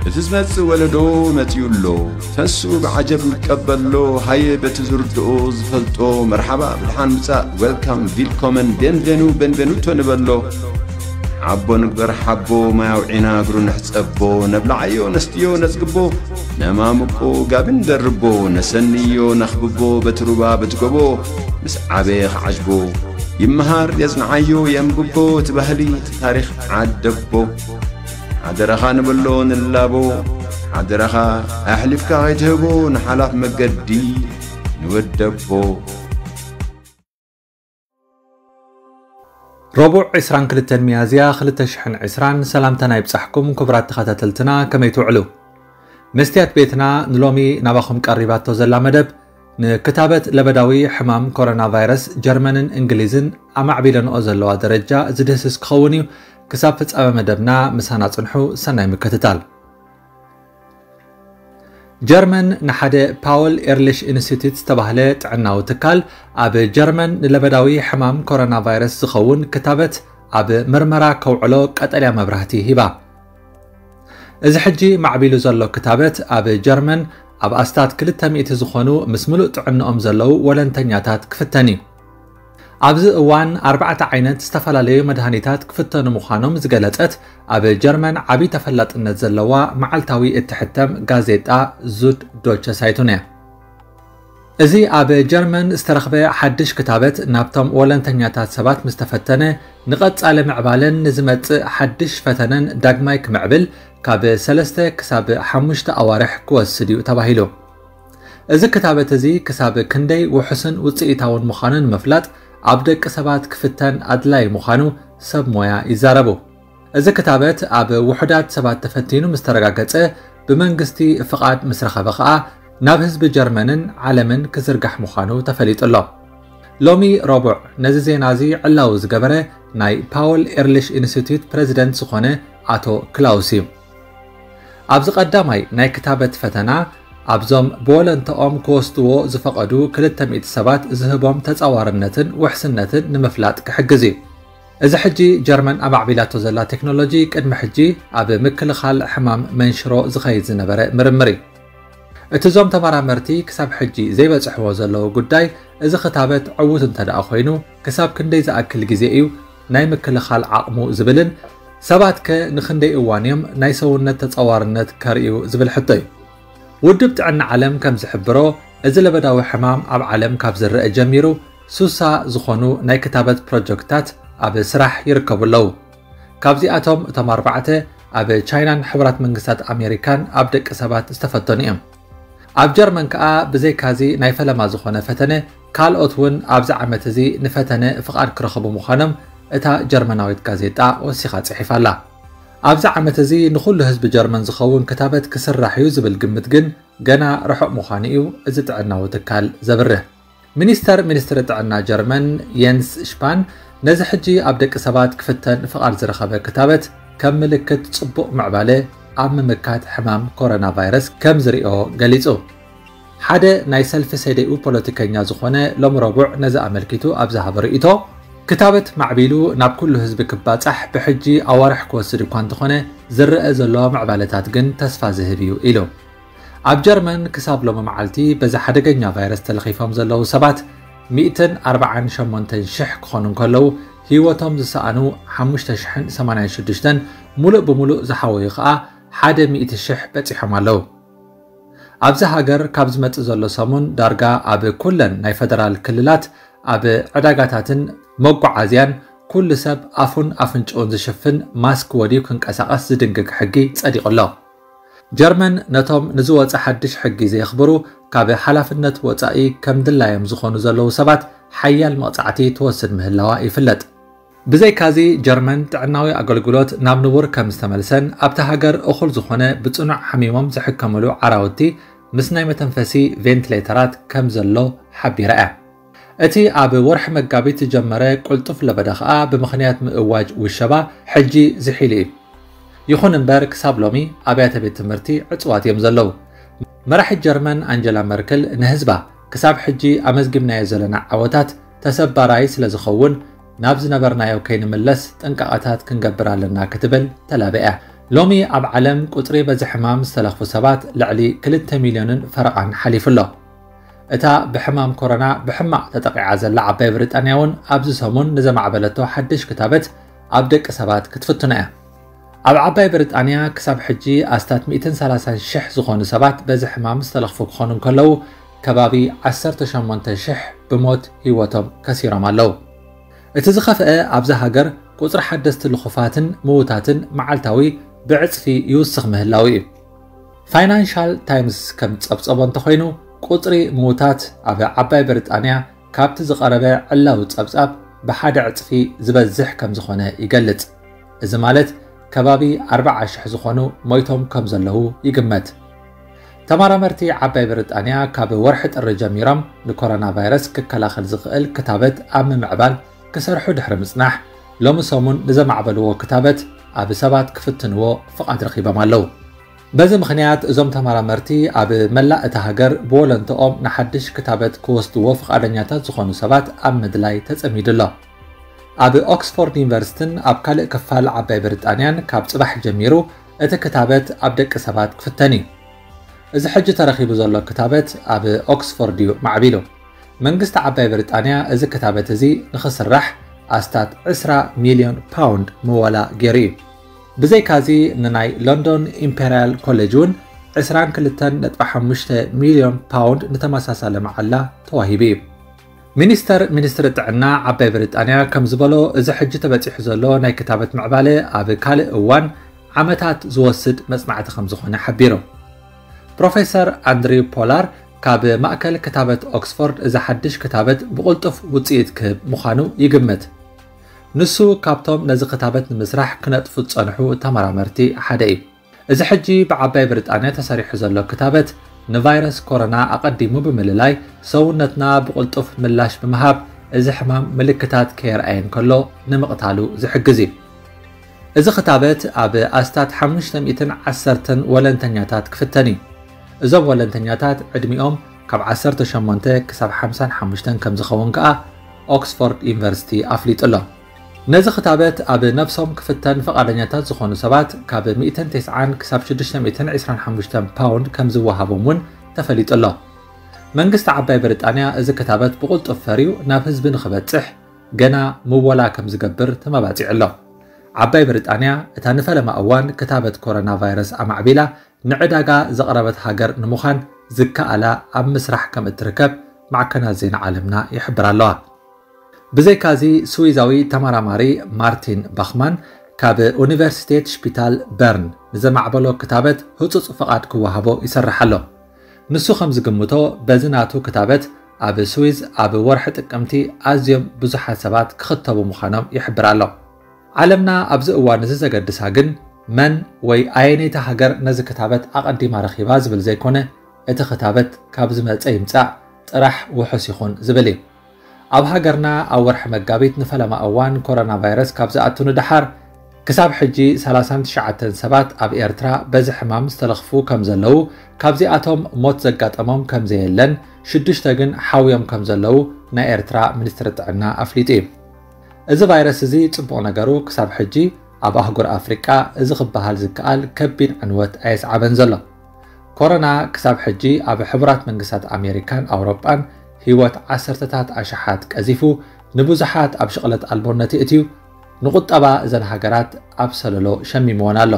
እቲ ዝመጽእ ወለዶ መጺኡ ኣሎ። ተሱ ብዓጀብ ይቀበሎ። ሃየ በቲ ዝርድኦ ዝፈልጦ መርሓባ ብድሓን ምጻእ፣ ዌልካም፣ ቪልኮመን፣ ቤንቬኑ፣ ቤንቬኑቶ ንበሎ። ሓቦ ንግበር ሓቦ፣ ማይ ኣውዒና እግሩ ንሕጸቦ። ነብልዓዮ ነስትዮ ነጽግቦ፣ ነማምቆ ጋቢ ንደርቦ። ነሰንዮ ነኽብቦ በቲ ሩባ በቲ ጎቦ፣ ምስ ዓበየ ክዓጅቦ። ይመሃር የጽንዓዮ የንብቦ፣ እቲ ባህሊ እቲ ታሪኽ ዓደቦ። ሓደራኻ ንብሎ ንላቦ፣ ሓደራኻ ኣሕሊፍካ ከይትህቦ ንሓላፍ መገዲ ንወደቦ። ረቡዕ ዕስራን ክልተን ሚያዝያ ክልተ ሽሕን ዕስራን፣ ሰላምታና ይብጻሕኩም ክቡራት ተኸታተልትና፣ ከመይ ትውዕሉ? መስትያት ቤትና ንሎሚ ናባኹም ቀሪባቶ ዘላ መደብ፣ ንክታበት ለበዳዊ ሕማም ኮሮና ቫይረስ ጀርመንን እንግሊዝን ኣማዕቢለንኦ ዘለዋ ደረጃ ዝድህስስ ክኸውን እዩ። ክሳብ ፍጻመ መደብና ምሳና ጽንሑ። ሰናይ ምክትታል። ጀርመን ንሓደ ፓወል ኤርሊሽ ኢንስቲትዩት ዝተባህለ ጥዕናዊ ትካል ኣብ ጀርመን ንለበዳዊ ሕማም ኮሮና ቫይረስ ዝኸውን ክታበት ኣብ ምርመራ ከውዕሎ ቀጠልያ መብራህቲ ሂባ። እዚ ሕጂ ማዕቢሉ ዘሎ ክታበት ኣብ ጀርመን ኣብ ኣስታት ክልተ ሚእቲ ዝኾኑ ምስ ምሉእ ጥዕንኦም ዘለዉ ወለንተኛታት ክፍተን እዩ። ኣብዚ እዋን ኣርባዕተ ዓይነት ዝተፈላለዩ መድሃኒታት ክፍተኑ ምዃኖም ዝገለጸት ኣብ ጀርመን ዓቢ ተፈላጥነት ዘለዋ መዓልታዊ እትሕተም ጋዜጣ ዙድ ዶቸ ሳይቱን እያ። እዚ ኣብ ጀርመን ዝተረኽበ ሓድሽ ክታበት ናብቶም ወለንተኛታት ሰባት ምስ ተፈተነ፣ ንቐጻሊ ምዕባለን ንዝመጽእ ሓድሽ ፈተነን ዳግማይ ክምዕብል ካብ ሰለስተ ክሳብ ሓሙሽተ ኣዋርሕ ክወስድ እዩ ተባሂሉ። እዚ ክታበት እዚ ክሳብ ክንደይ ውሑስን ውጽኢታውን ምዃኑ ንምፍላጥ ኣብ ደቂ ሰባት ክፍተን ኣድላዪ ምዃኑ ሰብ ሞያ ይዛረቡ። እዚ ክታበት ኣብ ውሑዳት ሰባት ተፈቲኑ ምስ ተረጋገጸ፣ ብመንግስቲ ፍቓድ ምስ ረኸበ ከኣ ናብ ህዝቢ ጀርመንን ዓለምን ክዝርጋሕ ምዃኑ ተፈሊጡ ኣሎ። ሎሚ ረቡዕ ነዚ ዜና እዚ ዕላዊ ዝገበረ ናይ ፓወል ኤርሊሽ ኢንስቲትዩት ፕረዚደንት ዝኾነ ኣቶ ክላውስ እዩ። ኣብዚ ቀዳማይ ናይ ክታበት ፈተና ኣብዞም ብወለንተኦም ክወስድዎ ዝፈቐዱ ክልተ ሚእቲ ሰባት ዝህቦም ተጻዋርነትን ውሕስነትን ንምፍላጥ ክሕግዝ እዩ። እዚ ሕጂ ጀርመን ኣማዕቢላቶ ዘላ ቴክኖሎጂ ቅድሚ ሕጂ ኣብ ምክልኻል ሕማም መንሽሮ ዝኸይድ ዝነበረ ምርምር እዩ። እቲ እዞም ተመራመርቲ ክሳብ ሕጂ ዘይበጽሕዎ ዘለዉ ጉዳይ፣ እዚ ክታበት ዕዉት እንተ ደኣ ኮይኑ፣ ክሳብ ክንደይ ዝኣክል ግዜ እዩ ናይ ምክልኻል ዓቕሙ ዝብልን፣ ሰባት ከ ንኽንደይ እዋን እዮም ናይ ሰውነት ተጻዋርነት ከርእዩ ዝብል ሕቶ እዩ። ውድብ ጥዕና ዓለም ከም ዝሕብሮ፣ እዚ ለበዳዊ ሕማም ኣብ ዓለም ካብ ዝረአ ጀሚሩ፣ ሱሳ ዝኾኑ ናይ ክታበት ፕሮጀክትታት ኣብ ስራሕ ይርከቡ ኣለዉ። ካብዚኣቶም እቶም ኣርባዕተ ኣብ ቻይናን ሕቡራት መንግስታት ኣሜሪካን ኣብ ደቂ ሰባት ዝተፈተኑ እዮም። ኣብ ጀርመን ከኣ ብዘይካዚ ናይ ፈለማ ዝኾነ ፈተነ፣ ካልኦት እውን ኣብዚ ዓመት እዚ ንፈተነ ፍቓድ ክረኽቡ ምዃኖም እታ ጀርመናዊት ጋዜጣ ወሲኻ ጽሒፋ ኣላ። ኣብዚ ዓመት እዚ ንኹሉ ህዝቢ ጀርመን ዝኸውን ክታበት ክስራሕ እዩ ዝብል ግምት ግን ገና ርሑቕ ምዃኑ እዩ እዚ ጥዕናዊ ትካል ዘብርህ። ሚኒስተር ሚኒስትሪ ጥዕና ጀርመን የንስ ሽፓን ነዚ ሕጂ ኣብ ደቂ ሰባት ክፍተን ፍቓድ ዝረኸበ ክታበት ከም ምልክት ጽቡቕ ምዕባለ ኣብ ምምካት ሕማም ኮሮና ቫይረስ ከም ዝሪኦ ገሊጹ። ሓደ ናይ ሰልፊ ሰደኡ ፖለቲከኛ ዝኾነ ሎሚ ረቡዕ ነዚ ኣመልኪቱ ኣብ ዝሃበ ርእይቶ፣ ክታበት ማዕቢሉ ናብ ኩሉ ህዝቢ ክባጻሕ ብሕጂ ኣዋርሕ ክወስድ እኳ እንተኾነ፣ ዝረአ ዘሎ ምዕባለታት ግን ተስፋ ዝህብ እዩ ኢሉ። ኣብ ጀርመን ክሳብ ሎሚ መዓልቲ በዚ ሓደገኛ ቫይረስ ተለኺፎም ዘለዉ ሰባት ሚእትን ኣርባዓን ሸሞንተን ሽሕ ክኾኑ እንከለዉ፣ ህይወቶም ዝሰኣኑ ሓሙሽተ ሽሕን ሰማንያን ሽዱሽተን፣ ሙሉእ ብሙሉእ ዝሓወዩ ኸኣ ሓደ ሚእቲ ሽሕ በጺሖም ኣለዉ። ኣብዚ ሃገር ካብ ዝመጽእ ዘሎ ሰሙን ዳርጋ ኣብ ኩለን ናይ ፈደራል ክልላት ኣብ ዕዳጋታትን መጓዓዝያን ኩሉ ሰብ ኣፉን ኣፍንጭኡን ዝሽፍን ማስክ ወድዩ ክንቀሳቐስ ዝድንግግ ሕጊ ጸዲቑ ኣሎ። ጀርመን ነቶም ንዝወጸ ሓድሽ ሕጊ ዘየኽብሩ ካብ ሓላፍነት ወጻኢ ከም ድላዮም ዝኾኑ ዘለዉ ሰባት ሓያል መቕጻዕቲ ትወስድ ምህላዋ ይፍለጥ። ብዘይካዚ ጀርመን ጥዕናዊ ኣገልግሎት ናብ ንቡር ከም ዝተመልሰን ኣብታ ሃገር እኹል ዝኾነ ብጽኑዕ ሓሚሞም ዝሕከምሉ ዓራውቲ ምስ ናይ መተንፈሲ ቬንትሌተራት ከም ዘሎ ሓቢራ እያ። እቲ ኣብ ወርሒ መጋቢት ዝጀመረ ቅልጡፍ ለበዳ ከኣ ብምኽንያት ምእዋጅ ውሸባ ሕጂ ዝሒሉ እዩ። ይኹን እምበር ክሳብ ሎሚ ኣብያተ ቤት ትምህርቲ ዕጽዋት እዮም ዘለዉ። መራሒት ጀርመን ኣንጀላ መርክል ንህዝባ ክሳብ ሕጂ ኣመዝጊብናዮ ዘለና ዓወታት ተሰባራይ ስለ ዝኸውን ናብ ዝነበርናዮ ከይንምለስ ጥንቃቐታት ክንገብር ኣለና ክትብል ተላቢኣ። ሎሚ ኣብ ዓለም ቁጽሪ በዚ ሕማም ዝተለኽፉ ሰባት ልዕሊ ክልተ ሚልዮንን ፈረቓን ሓሊፉ ኣሎ። እታ ብሕማም ኮሮና ብሕማቕ ተጠቒዓ ዘላ ዓባይ ብሪጣንያ እውን ኣብዚ ሰሙን ንዘማዕበለቶ ሓድሽ ክታበት ኣብ ደቂ ሰባት ክትፍትኖ እያ። ኣብ ዓባይ ብሪጣንያ ክሳብ ሕጂ ኣስታት ሚእትን ሰላሳን ሽሕ ዝኾኑ ሰባት በዚ ሕማም ዝተለኽፉ ክኾኑ እንከለዉ፣ ከባቢ ዓሰርተ ሸሞንተ ሽሕ ብሞት ህይወቶም ከሲሮም ኣለዉ። እቲ ዝኸፍአ፣ ኣብዛ ሃገር ቁጽሪ ሓደስቲ ልኹፋትን ምዉታትን መዓልታዊ ብዕጽፊ ይውስኽ ምህላዉ እዩ። ፋይናንሻል ታይምስ ከም ዝጸብጸቦ እንተኾይኑ፣ ቁጽሪ ምዉታት ኣብ ዓባይ ብሪጣንያ ካብቲ ዝቐረበ ዕላዊ ጸብጻብ ብሓደ ዕጽፊ ዝበዝሕ ከም ዝኾነ ይገልጽ። እዚ ማለት ከባቢ ኣርብዓ ሽሕ ዝኾኑ ሞይቶም ከም ዘለዉ ይግመት። ተመራመርቲ ዓባይ ብሪጣንያ ካብ ወርሒ ጥሪ ጀሚሮም ንኮሮና ቫይረስ ክከላኸል ዝኽእል ክታበት ኣብ ምምዕባል ክሰርሑ ድሕሪ ምጽናሕ፣ ሎሚ ሰሙን ንዘማዕበልዎ ክታበት ኣብ ሰባት ክፍትንዎ ፍቓድ ረኺቦም ኣለዉ። በዚ ምኽንያት እዞም ተመራመርቲ ኣብ መላእ እታ ሃገር ብወለንትኦም ንሓድሽ ክታበት ክወስድዎ ፍቓደኛታት ዝኾኑ ሰባት ኣብ ምድላይ ተጸሚዱ ኣሎ። ኣብ ኦክስፎርድ ዩኒቨርሲቲን ኣብ ካልእ ክፋል ዓባይ ብሪጣንያን ካብ ጽባሕ ጀሚሩ እቲ ክታበት ኣብ ደቂ ሰባት ክፍተን እዩ። እዚ ሕጂ ተረኺቡ ዘሎ ክታበት ኣብ ኦክስፎርድ እዩ ማዕቢሉ። መንግስቲ ዓባይ ብሪጣንያ እዚ ክታበት እዚ ንኽስራሕ ኣስታት ዕስራ ሚልዮን ፓውንድ ምወላ ገይሩ እዩ። ብዘይካዚ ንናይ ሎንዶን ኢምፔርያል ኮሌጅ እውን ዕስራን ክልተን ነጥቢ ሓሙሽተ ሚልዮን ፓውንድ ንተመሳሳሊ መዓላ ተዋሂቡ እዩ። ሚኒስተር ሚኒስትሪ ጥዕና ዓባይ ብሪጣንያ ከም ዝበሎ፣ እዚ ሕጂ ተበጺሑ ዘሎ ናይ ክታበት ምዕባለ ኣብ ካልእ እዋን ዓመታት ዝወስድ መጽናዕቲ ከም ዝኾነ ሓቢሩ። ፕሮፌሰር ኣንድሪው ፖላር ካብ ማእከል ክታበት ኦክስፎርድ፣ እዚ ሓድሽ ክታበት ብቕልጡፍ ውጽኢት ክህብ ምዃኑ ይግምት። ንሱ ካብቶም ነዚ ክታበት ንምስራሕ ክነጥፉ ዝጸንሑ ተመራመርቲ ሓደ እዩ። እዚ ሕጂ ብዓባይ ብሪጣንያ ተሰሪሑ ዘሎ ክታበት ንቫይረስ ኮሮና ኣቐዲሙ ብምልላይ፣ ሰውነትና ብቕልጡፍ ምላሽ ብምሃብ እዚ ሕማም ምልክታት ከየርኣየ እንከሎ ንምቕታሉ ዝሕግዝ እዩ። እዚ ክታበት ኣብ ኣስታት ሓሙሽተ ሚእትን ዓሰርተን ወለንተኛታት ክፍተን እዩ። እዞም ወለንተኛታት ዕድሚኦም ካብ ዓሰርተ ሸሞንተ ክሳብ ሓምሳን ሓሙሽተን ከም ዝኸውን ከኣ ኦክስፎርድ ዩኒቨርሲቲ ኣፍሊጡ ኣሎ። ነዚ ክታበት ኣብ ነብሶም ክፍተን ፍቓደኛታት ዝኾኑ ሰባት ካብ ሚእትን ተስዓን ክሳብ ሽዱሽተ ሚእትን ዕስራን ሓሙሽተን ፓውንድ ከም ዝወሃቦም እውን ተፈሊጡ ኣሎ። መንግስቲ ዓባይ ብሪጣንያ እዚ ክታበት ብቕልጡፍ ፈርዩ ናብ ህዝቢ ንኽበጽሕ ገና ምወላ ከም ዝገብር ተመባጺዑ ኣሎ። ዓባይ ብሪጣንያ እታ ንፈለማ እዋን ክታበት ኮሮና ቫይረስ ኣማዕቢላ ንዕዳጋ ዘቕረበት ሃገር ንምዃን ዝከኣላ ኣብ ምስራሕ ከም እትርከብ ማዕከናት ዜና ዓለምና ይሕብራ ኣለዋ። ብዘይካዚ፣ ስዊዛዊ ተመራማሪ ማርቲን ባኽማን ካብ ዩኒቨርሲቴት ሽፒታል በርን ንዘማዕበሎ ክታበት ህጹጽ ፍቓድ ክወሃቦ ይሰርሕ ኣሎ። ንሱ ከም ዝግምቶ፣ በዚ ናቱ ክታበት ኣብ ስዊዝ ኣብ ወርሒ ጥቅምቲ ኣዝዮም ብዙሓት ሰባት ክኽተቡ ምዃኖም ይሕብር ኣሎ። ዓለምና ኣብዚ እዋን እዚ ዘገድሳ ግን መን ወይ ኣየነይቲ ሃገር ነዚ ክታበት ኣቐዲማ ረኺባ ዝብል ዘይኮነ፣ እቲ ክታበት ካብ ዝመጸ ይምጻእ ጥራሕ ውሑስ ይኹን ዝብል እዩ። ኣብ ሃገርና ኣብ ወርሒ መጋቢት ንፈለማ እዋን ኮሮና ቫይረስ ካብ ዝኣቱ ንደሓር ክሳብ ሕጂ ሰላሳን ትሽዓተን ሰባት ኣብ ኤርትራ በዚ ሕማም ዝተለኽፉ ከም ዘለዉ፣ ካብዚኣቶም ሞት ዘጋጠሞም ከም ዘየለን ሽዱሽተ ግን ሓውዮም ከም ዘለዉ ናይ ኤርትራ ሚኒስትሪ ጥዕና ኣፍሊጡ እዩ። እዚ ቫይረስ እዚ ጽቡቕ ነገሩ ክሳብ ሕጂ ኣብ ኣህጉር ኣፍሪቃ እዚ ክበሃል ዝከኣል ከቢድ ዕንወት ኣየስዓበን ዘሎ። ኮሮና ክሳብ ሕጂ ኣብ ሕቡራት መንግስታት ኣሜሪካን ኣውሮጳን ህይወት ዓሰርተታት ኣሽሓት ቀዚፉ፣ ንብዙሓት ኣብ ሽቕለት ኣልቦነት የእትዩ፣ ንቁጠባ እዘን ሃገራት ኣብ ሰለሎ ሸሚምወን ኣሎ።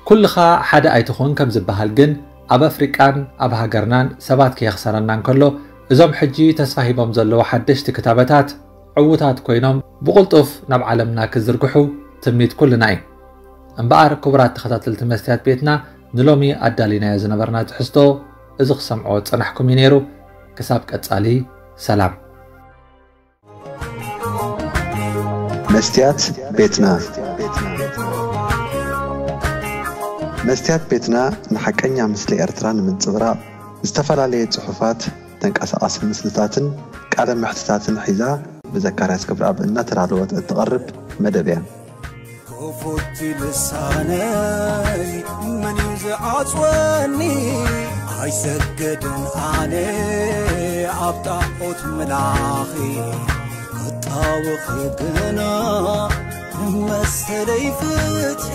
ኩልኻ ሓደ ኣይትኹን ከም ዝበሃል ግን፣ ኣብ ኣፍሪቃን ኣብ ሃገርናን ሰባት ከየኽሰረና እንከሎ፣ እዞም ሕጂ ተስፋ ሂቦም ዘለዉ ሓደሽቲ ክታበታት ዕዉታት ኮይኖም ብቕልጡፍ ናብ ዓለምና ክዝርግሑ ትምኒት ኩልና እዩ። እምበኣር ክቡራት ተኸታተልቲ መስትያት ቤትና፣ ንሎሚ ኣዳሊናዮ ዝነበርና ትሕዝቶ እዚ ክሰምዖ ዝጸናሕኩም እዩ ነይሩ። ክሳብ ቀጻሊ፣ ሰላም። መስትያት ቤትና። መስትያት ቤትና ንሓቀኛ ምስሊ ኤርትራ ንምንጽብራቕ ዝተፈላለየ ጽሑፋት፣ ተንቀሳቓሲ ምስልታትን ቃለ መሕትታትን ሒዛ ብዘካርያስ ክብረኣብ እናተዳለወት እትቐርብ መደብ እያ። ክፉት ልሳነይ መን እዩ ዝዓጽወኒ? ኣይሰገድን ኣነ ኣብ ጣዖት ምላኺ ክጣወኺ ግና መሰለይ ፍትሒ